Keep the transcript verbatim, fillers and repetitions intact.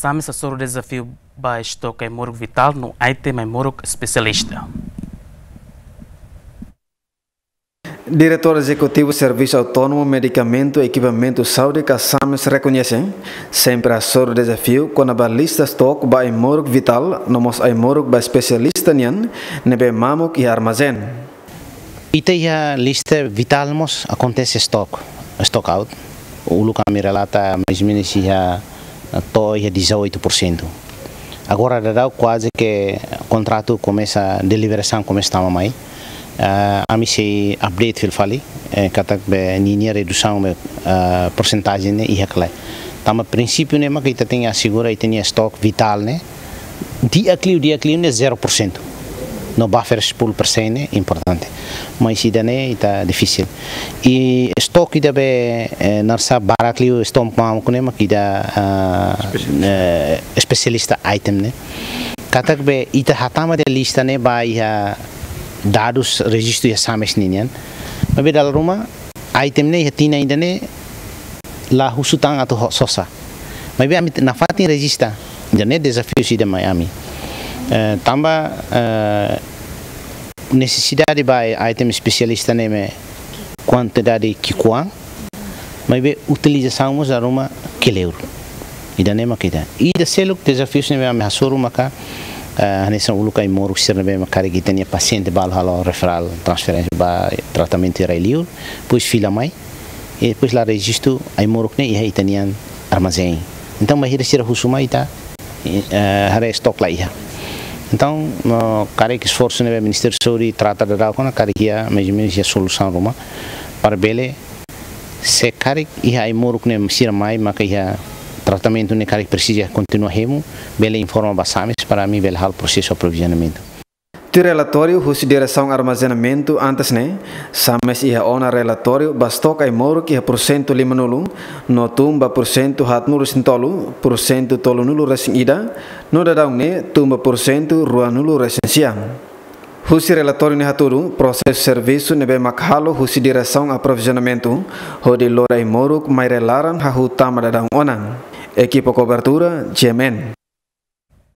SAMES hasoru dezafiu ba estoke ai-moruk vitál no item ai-moruk espesialista. Diretór Ezekutivu Servisu Autónomu Medikamentu Ekipamentu Saúde ka SAMES rekoñese, sempre hasoru dezafiu kona-ba lista stok ba ai-moruk vitál no mós ai-moruk ba espesialista nian ne'ebé mamuk iha armazén. Ita iha lista vitál mós akontese stok, stock out. Uluk ami relata mais ou menus iha to'o iha dezoito por cento. Agora daudaun kuaze ke kontratu komesa, deliberasaun komesa tama mai. Ah, ami sei update fila fali, eh, katak be ninia redusaun be, ah, persentajen ne'e iha ka lae. Tanba prinsípiu ne'e mak ita tenke asegura ita-nia stok vitál ne'e di'ak liu, di'ak liu ne'e zero por cento. No buffer sepuluh persen ne'e importante. Mas ida-ne'e ita difisil. I stok ida be, eh, naran sá barak liu, stok mamuk ne'e mak ita, ah, eh, espesialista item ne'e. Katak be ita hatama de'it lista ne'e ba iha dadus rejistu iha SAMES ninian. Maibé dala ruma item ne'e iha tinan ida-ne'e la husu tan atu ho-, sosa. Maibé ami nafatin rejista. Ida-ne'e dezafiu ida mai ami. Eh, tanba, eh, nesesidade ba item espesialista ne'e mak kuantidade ki'ikoan, maibé utilizasaun mós dala ruma kleur. Ida-ne'e mak ita. Ida seluk dezafiu ne'ebé ami hasoru maka, eh, hanesan uluk ai-moruk sira ne'ebé mak karik ita-nia pasiente balu halo referral, transferénsia ba tratamentu iha rai-liur, depois fila mai, i depois la rejistu ai-moruk ne'e iha ita-nian armazén. Entaun, bainhira sira husu mai ita, eh, haree stok la iha. Entaun, no, karik esforsu ne'ebé Ministériu Saúde trata daudaun ona, karik iha, mais ou menus iha solusaun ruma, para bele, se karik iha ai-moruk ne'e sira mai, maka iha tratamentu ne'e karik presiza kontinua hemu, bele informa ba SAMES para ami bele halo prosesu aprovizionamentu. Tuir relatóriu husi Diresaun Armazenamentu antes ne'e, SAMES iha ona relatóriu ba stok ai-moruk iha porsentu limanulu, no tun ba porsentu haatnulu-resin-tolu, porsentu tolunulu-resin-ida, no daudaun ne'e tun ba porsentu ruanulu-resin-sia. Husi relatóriu ne'e hatudu, prosesu servisu ne'ebé mak halo husi Diresaun Aprovizionamentu, hodi lori ai-moruk mai rai-laran hahú tama daudaun ona. Ekipa kobertura, G M N.